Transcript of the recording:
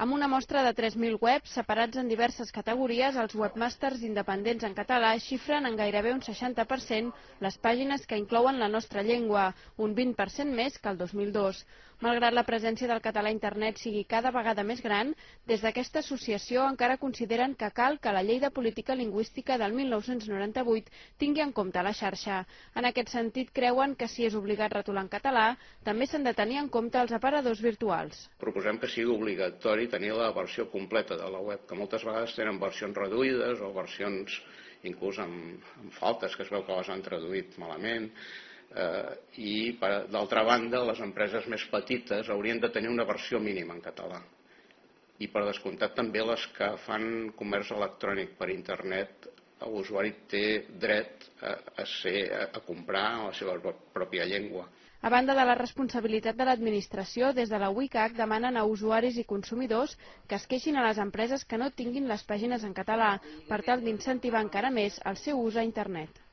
Amb una mostra de 3.000 webs separats en diverses categories, els webmasters independents en català xifren en gairebé un 60% les pàgines que inclouen la nostra llengua, un 20% més que el 2002. Malgrat la presència del català a internet sigui cada vegada més gran, des d'aquesta associació encara consideren que cal que la Llei de Política Lingüística del 1998 tingui en compte la xarxa. En aquest sentit, creuen que si és obligat retolar en català, també s'han de tenir en compte els aparadors virtuals. Proposem que sigui obligatori tenir la versió completa de la web, que moltes vegades tenen versions reduïdes o versions inclús amb faltes, que es veu que les han traduït malament. I, d'altra banda, les empreses més petites haurien de tenir una versió mínima en català. I, per descomptat, també les que fan comerç electrònic per internet, l'usuari té dret a comprar en la seva pròpia llengua. A banda de la responsabilitat de l'administració, des de la WCAG demanen a usuaris i consumidors que es queixin a les empreses que no tinguin les pàgines en català, per tal d'incentivar encara més el seu ús a internet.